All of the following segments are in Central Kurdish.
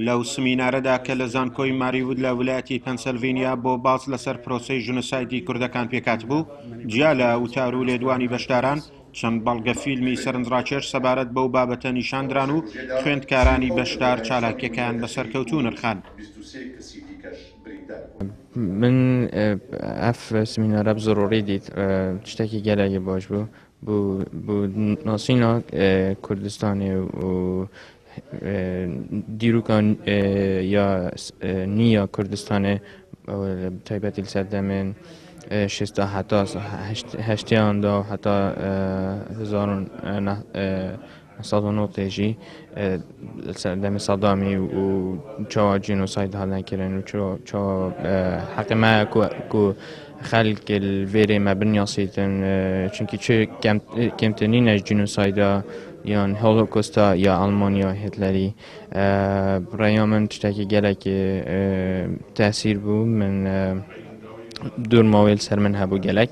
لەو سمینارەدا کە لە زانکۆی ماریوود لە ولایەتی پەنسەلڤینیا بۆ باس لەسەر پرۆسەی ژنۆسایدی کوردەکان پێکهاتبوو، جیا لە وتار و لێدوانی بەشداران، چەند بەڵگە فیلمی سەرنجڕاکێش سەبارەت بەو بابەتە نیشاندران و خوێندکارانی بەشدار چالاکیەکەیان بە سەرکەوتوو نرخاند. من ئەف سمینارە بزڕوڕی دیت شتێکی گەلێکی باش بوو بۆ ناسینا کوردستانێ و دیروکا یا نیە کوردستانێ تایبەتی سەردەمێن شێستا هەتا هەشتیاندا و هەتا 1990 ژی سەردەمی سەدامی و چاوا جینۆساید هاتن kirin و چاوا حەقی me ku xelk li vêrê me binyasîtin çunkî çi kêmtir nîne ji cînosayda yan holokosta ya Almanya Hitlerî reya min tiştekî gelekî tesîr bû min dûr mawê li ser min hebû gelek.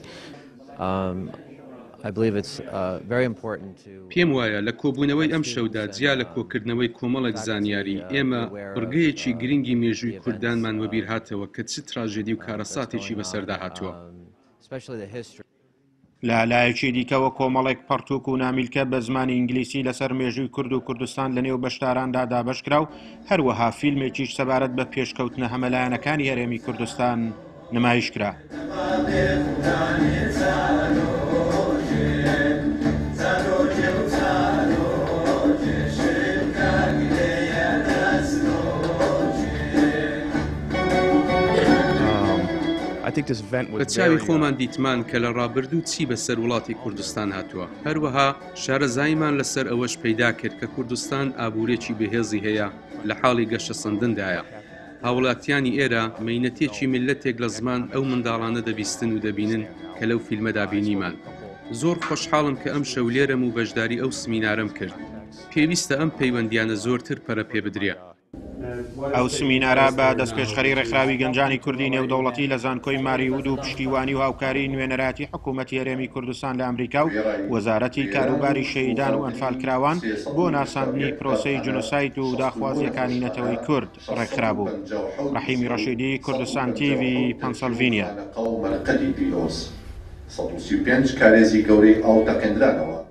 پێم وایە لە کۆبوونەوەی ئەمشەودا جیا لە کۆکردنەوەی کۆمەڵێک زانیاری، ئێمە بڕگەیەکی گرنگی مێژووی کوردانمان وەبیرهاتەوە کە چ تراژێدی و کارەساتێکی بەسەردا هاتووە. لە لایەکی دیکەوە کۆمەڵێک پەڕتووک و نامیلکە بە زمانی ئینگلیسی لەسەر مێژووی کورد و کوردستان لەنێو بەشداراندا دابەشکرا و هەروەها فیلمێکیش سەبارەت بە پێشکەوتنە هەمەلایەنەکانی هەرێمی کوردستان نمایش کرا. بە چاوی خۆمان دیتمان کە لە ڕابردوو چی بەسەر وڵاتی کوردستان هاتووە، هەروەها شارەزاییمان لەسەر ئەوەش پەیدا کرد کە کوردستان ئابوورێکی بەهێزی هەیە لە حاڵی گەشەسەندندایە. هاوڵاتیانی ئێرە مەینەتێکی میللەتێک لە زمان ئەو منداڵانە دەبیستن و دەبینن کە لەو فیلمەدا بینیمان. زۆر خۆشحاڵم کە ئەمشەو لێرەم و بەشداری ئەو سمینارەم کرد. پێویستە ئەم پەیوەندیانە زۆرتر پەرە پێ بدرێ. ئەو سمینارە بە دەستپێشخەری ڕێکخراوی گەنجانی کوردی نێودەوڵەتی لە زانکۆی ماریوود و پشتیوانی و هاوکاری نوێنەرایەتی حکوومەتی هەرێمی کوردستان لە ئەمریکا و وەزارەتی کاروباری شەهیدان و ئەنفالکراوان بۆ ناساندنی پرۆسەی جنۆساید و داخوازییەکانی نەتەوەی کورد ڕێکخرابوو. ڕەحیمی ڕەشیدی، کوردستان تیڤی، پەنسەلڤینیا. 135 کارێزی گەورەی ئاو تەقێندرانەوە.